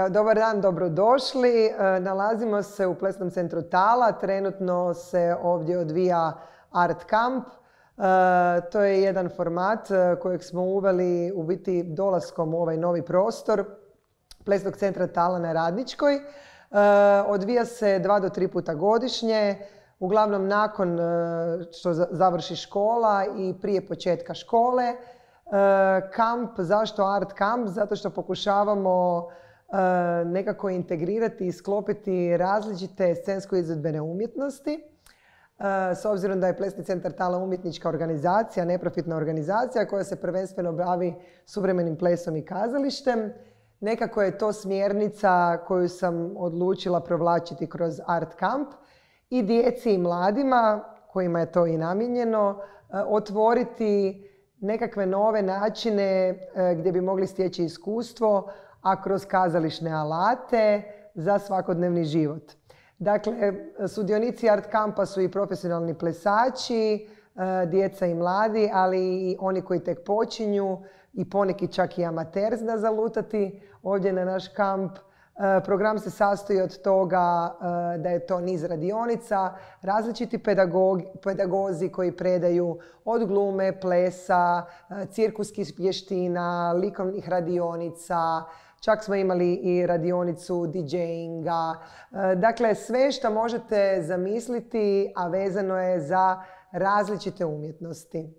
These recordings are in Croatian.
Dobar dan, dobrodošli. Nalazimo se u Plesnom centru Tala. Trenutno se ovdje odvija Art Camp. To je jedan format kojeg smo uveli u biti dolaskom u ovaj novi prostor Plesnog centra Tala na Radničkoj. Odvija se 2 do 3 puta godišnje, uglavnom nakon što završi škola i prije početka škole. Kamp, zašto Art Camp? Zato što pokušavamo nekako integrirati i sklopiti različite scensko-izvedbene umjetnosti. S obzirom da je Plesni centar Tala umjetnička organizacija, neprofitna organizacija koja se prvenstveno bavi suvremenim plesom i kazalištem, nekako je to smjernica koju sam odlučila provlačiti kroz Art Camp i djeci i mladima, kojima je to i namijenjeno, otvoriti nekakve nove načine gdje bi mogli stječi iskustvo, a kroz kazališne alate za svakodnevni život. Dakle, sudionici Art Campa su i profesionalni plesači, djeca i mladi, ali i oni koji tek počinju i poneki čak i amater zna zalutati ovdje na naš kamp. Program se sastoji od toga da je to niz radionica, različiti pedagozi koji predaju od glume, plesa, cirkuskih vještina, likovnih radionica, čak smo imali i radionicu DJ-inga. Dakle, sve što možete zamisliti, a vezano je za različite umjetnosti.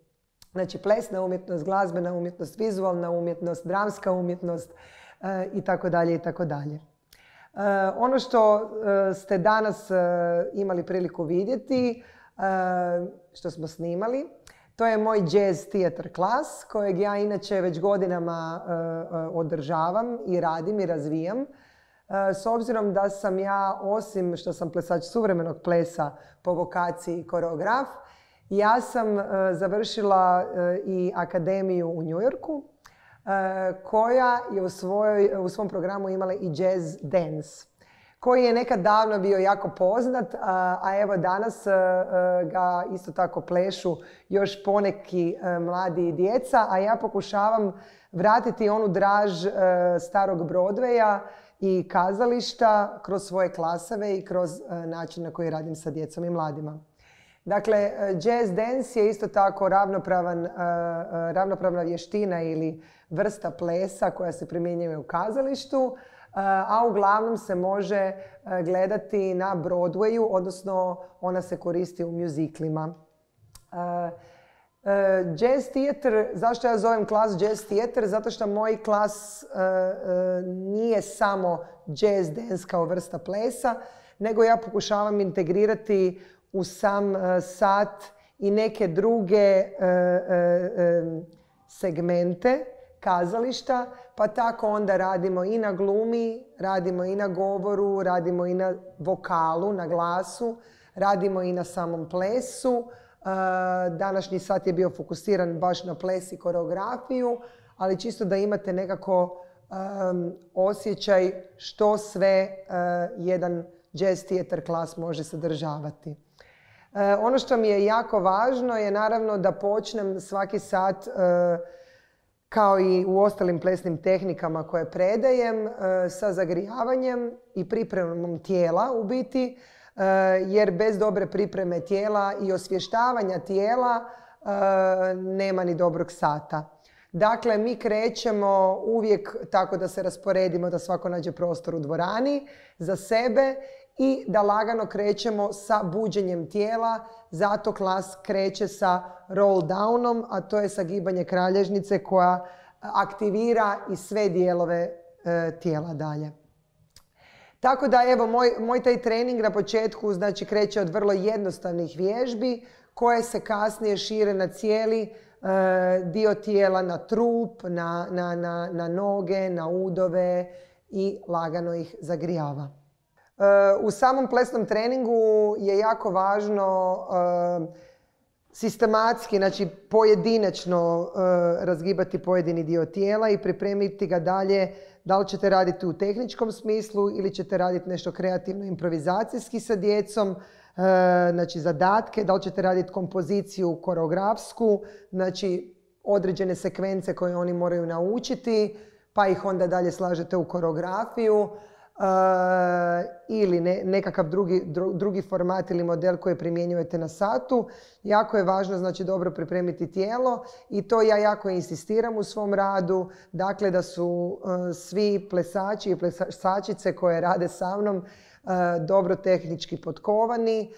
Znači, plesna umjetnost, glazbena umjetnost, vizualna umjetnost, dramska umjetnost itd. itd. Ono što ste danas imali priliku vidjeti, što smo snimali, to je moj jazz theater klas kojeg ja inače već godinama održavam i radim i razvijam. S obzirom da sam ja, osim što sam plesač suvremenog plesa po vokaciji i koreograf, ja sam završila i akademiju u New Yorku koja je u svom programu imala i jazz dance, koji je nekad davno bio jako poznat, a evo danas ga isto tako plešu još poneki mladi i djeca, a ja pokušavam vratiti onu draž starog Broadwaya i kazališta kroz svoje klaseve i kroz način na koji radim sa djecom i mladima. Dakle, jazz dance je isto tako ravnopravna vještina ili vrsta plesa koja se primjenjuje u kazalištu, a uglavnom se može gledati na Broadwayu, odnosno ona se koristi u mjuziklima. Jazz theater, zašto ja zovem klas jazz theater? Zato što moj klas nije samo jazz dance kao vrsta plesa, nego ja pokušavam integrirati u sam sat i neke druge segmente kazališta, pa tako onda radimo i na glumi, radimo i na govoru, radimo i na vokalu, na glasu, radimo i na samom plesu. Današnji sat je bio fokusiran baš na ples i koreografiju, ali čisto da imate nekako osjećaj što sve jedan jazz theater klas može sadržavati. Ono što mi je jako važno je naravno da počnem svaki sat kao i u ostalim plesnim tehnikama koje predajem, sa zagrijavanjem i pripremom tijela u biti, jer bez dobre pripreme tijela i osvještavanja tijela nema ni dobrog sata. Dakle, mi krećemo uvijek tako da se rasporedimo, da svako nađe prostor u dvorani za sebe i da lagano krećemo sa buđenjem tijela. Zato klas kreće sa roll downom, a to je sagibanje kralježnice koja aktivira i sve dijelove tijela dalje. Tako da evo, moj taj trening na početku znači kreće od vrlo jednostavnih vježbi koje se kasnije šire na cijeli dio tijela, na trup, na noge, na udove i lagano ih zagrijava. U samom plesnom treningu je jako važno sistematski, znači pojedinačno razgibati pojedini dio tijela i pripremiti ga dalje. Da li ćete raditi u tehničkom smislu ili ćete raditi nešto kreativno improvizacijski sa djecom, znači zadatke, da li ćete raditi kompoziciju koreografsku, znači određene sekvence koje oni moraju naučiti, pa ih onda dalje slažete u koreografiju ili nekakav drugi format ili model koji primjenjujete na satu. Jako je važno znači dobro pripremiti tijelo i to ja jako insistiram u svom radu. Dakle, da su svi plesači i plesačice koje rade sa mnom dobro tehnički potkovani,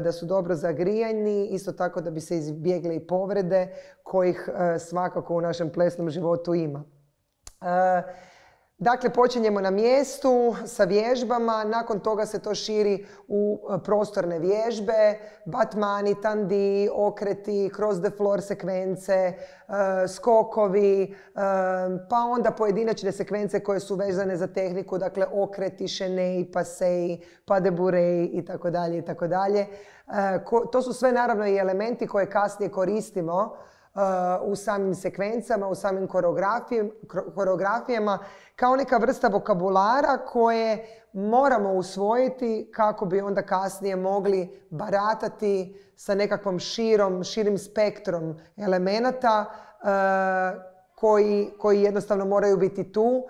da su dobro zagrijani, isto tako da bi se izbjegle i povrede kojih svakako u našem plesnom životu ima. Dakle, počinjemo na mjestu sa vježbama, nakon toga se to širi u prostorne vježbe, batmani, tandi, okreti, cross the floor sekvence, skokovi, pa onda pojedinačne sekvence koje su vezane za tehniku, dakle okreti, šenei, pasei, pas de bourrée itd. itd. To su sve naravno i elementi koje kasnije koristimo u samim sekvencama, u samim koreografijama, kao neka vrsta vokabulara koje moramo usvojiti kako bi onda kasnije mogli baratati sa nekakvom širim spektrom elemenata koji jednostavno moraju biti tu.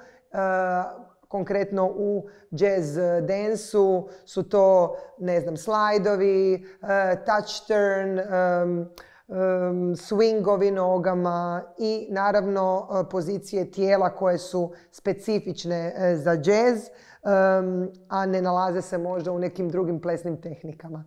Konkretno u jazz dance-u su to, ne znam, slajdovi, touch turn, swingovi nogama i naravno pozicije tijela koje su specifične za jazz, a ne nalaze se možda u nekim drugim plesnim tehnikama.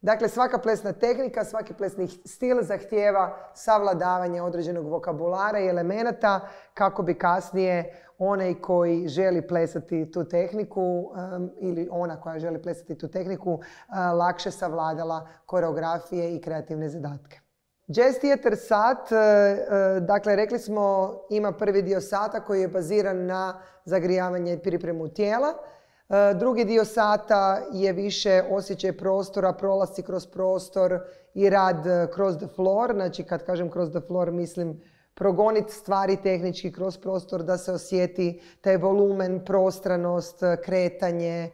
Dakle, svaka plesna tehnika, svaki plesni stil zahtijeva savladavanje određenog vokabulara i elemenata kako bi kasnije onaj koji želi plesati tu tehniku ili ona koja želi plesati tu tehniku lakše savladala koreografije i kreativne zadatke. Jazz Theater sat, dakle rekli smo, ima prvi dio sata koji je baziran na zagrijavanje i pripremu tijela. Drugi dio sata je više osjećaj prostora, prolasci kroz prostor i rad cross the floor. Znači kad kažem cross the floor mislim progoniti stvari tehnički kroz prostor da se osjeti taj volumen, prostranost, kretanje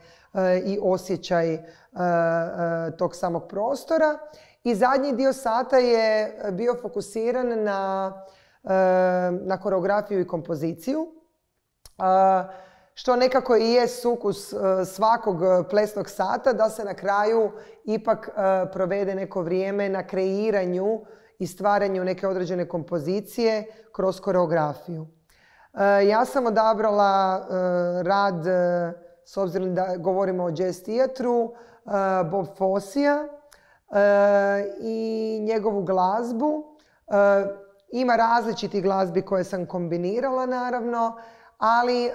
i osjećaj tog samog prostora. I zadnji dio sata je bio fokusiran na koreografiju i kompoziciju, što nekako i je sukus svakog plesnog sata, da se na kraju ipak provede neko vrijeme na kreiranju i stvaranju neke određene kompozicije kroz koreografiju. Ja sam odabrala rad, s obzirom da govorimo o jazz teatru, Bob Fossija i njegovu glazbu. Ima različitih glazbi koje sam kombinirala naravno, ali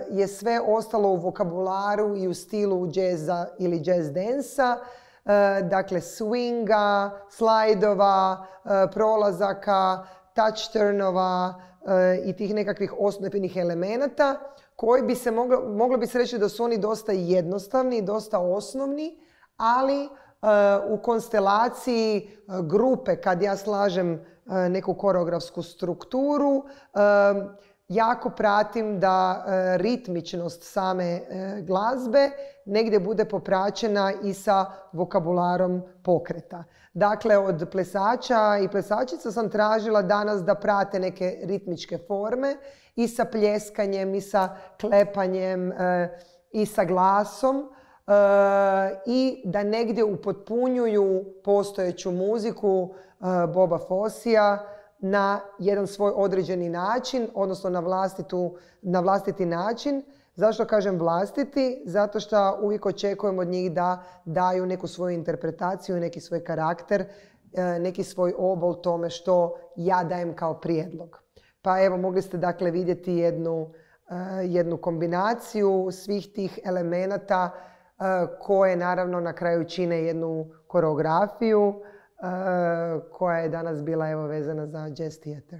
je sve ostalo u vokabularu i u stilu jazza ili jazz dansa. Dakle, swinga, slajdova, prolazaka, touch turnova i tih nekakvih osnovnih elemenata koji bi se moglo bi se reći da su oni dosta jednostavni, dosta osnovni, ali u konstelaciji grupe kad ja slažem neku koreografsku strukturu jako pratim da ritmičnost same glazbe negdje bude popraćena i sa vokabularom pokreta. Dakle, od plesača i plesačica sam tražila danas da prate neke ritmičke forme i sa pljeskanjem i sa klepanjem i sa glasom i da negdje upotpunjuju postojeću muziku Boba Fossija na jedan svoj određeni način, odnosno na vlastiti način. Zašto kažem vlastiti? Zato što uvijek očekujem od njih da daju neku svoju interpretaciju, neki svoj karakter, neki svoj obol tome što ja dajem kao prijedlog. Pa evo, mogli ste dakle vidjeti jednu kombinaciju svih tih elemenata koje naravno na kraju čine jednu koreografiju koja je danas bila vezana za jazz theater.